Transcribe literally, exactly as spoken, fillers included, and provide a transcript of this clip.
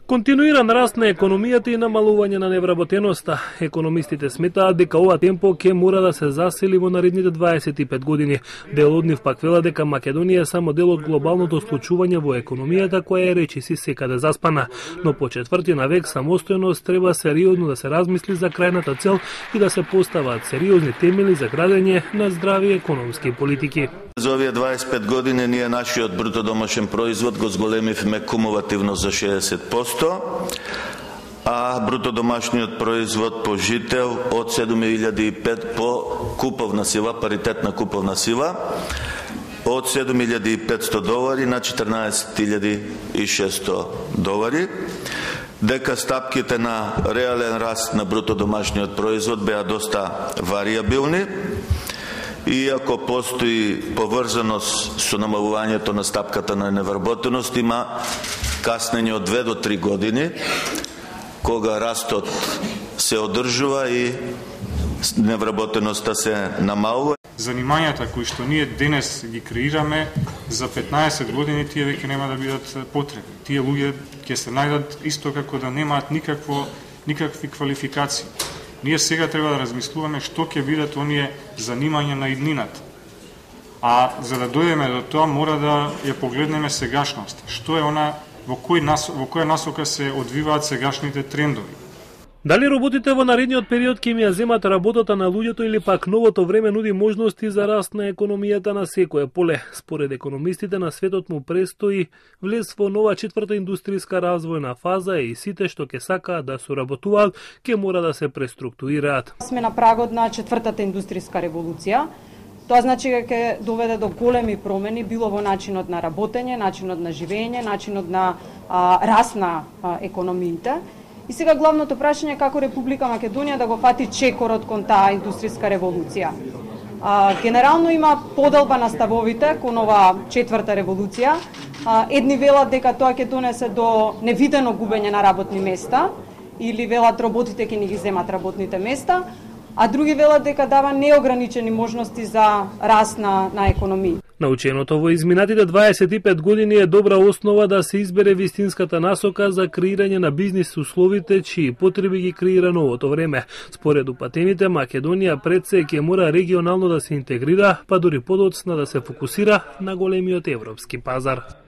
Континуиран раст на економијата и намалување на невработеноста. Економистите сметаат дека ова темпо ќе мора да се засили во наредните дваесет и пет години. Дел од нив пак вела дека Македонија е само дел од глобалното случување во економијата која е речиси секаде заспана. Но по четврти на век самостојност треба сериозно да се размисли за крајната цел и да се поставаат сериозни темели за градење на здрави економски политики. За овие дваесет и пет години ние нашиот бруто домашен производ го зголемивме кумулативно за шеесет проценти, а бруто домашниот производ по жител од седум илјади и пет по куповна сила, паритетна куповна сила, од седум илјади и петсто долари на четрнаесет илјади и шесто долари, дека стапките на реален раст на бруто домашниот производ беа доста варијабилни. Иако постои поврзаност со намалувањето на стапката на невработеност, има каснење од две до три години, кога растот се одржува и невработеноста се намалува. Занимањата кои што ние денес ги креираме, за петнаесет години тие веќе нема да бидат потребни. Тие луѓе ќе се најдат исто како да немаат никакво, никакви квалификации. Ние сега треба да размислуваме што ќе бидат оние занимања на иднината. А за да дојдеме до тоа, мора да ја погледнеме сегашност. Што е она, во кој нас, во која насока се одвиваат сегашните трендови. Дали роботите во наредниот период ќе им ја земат работата на луѓето или пак новото време нуди можности за раст на економијата на секое поле? Според економистите на светот му престои влез во нова четврта индустријска развојна фаза и сите што ќе сакаат да соработуваат ќе мора да се преструктурираат. Сме на прагот на четвртата индустријска револуција. Тоа значи дека ќе доведе до големи промени било во начинот на работење, начинот на живење, начинот на а, раст на а, економиите. И сега главното прашање е како Република Македонија да го фати чекорот кон таа индустријска револуција. А, генерално има поделба на ставовите кон ова четврта револуција. А, едни велат дека тоа ќе донесе до невидено губење на работни места или велат роботите ќе ни ги земат работните места, а други велат дека дава неограничени можности за раст на, на економија. Наученото во изминатите дваесет и пет години е добра основа да се избере вистинската насока за креирање на бизнис условите чии потреби ги креира новото време. Според упатените, Македонија пред се ќе мора регионално да се интегрира, па дури подоцна да се фокусира на големиот европски пазар.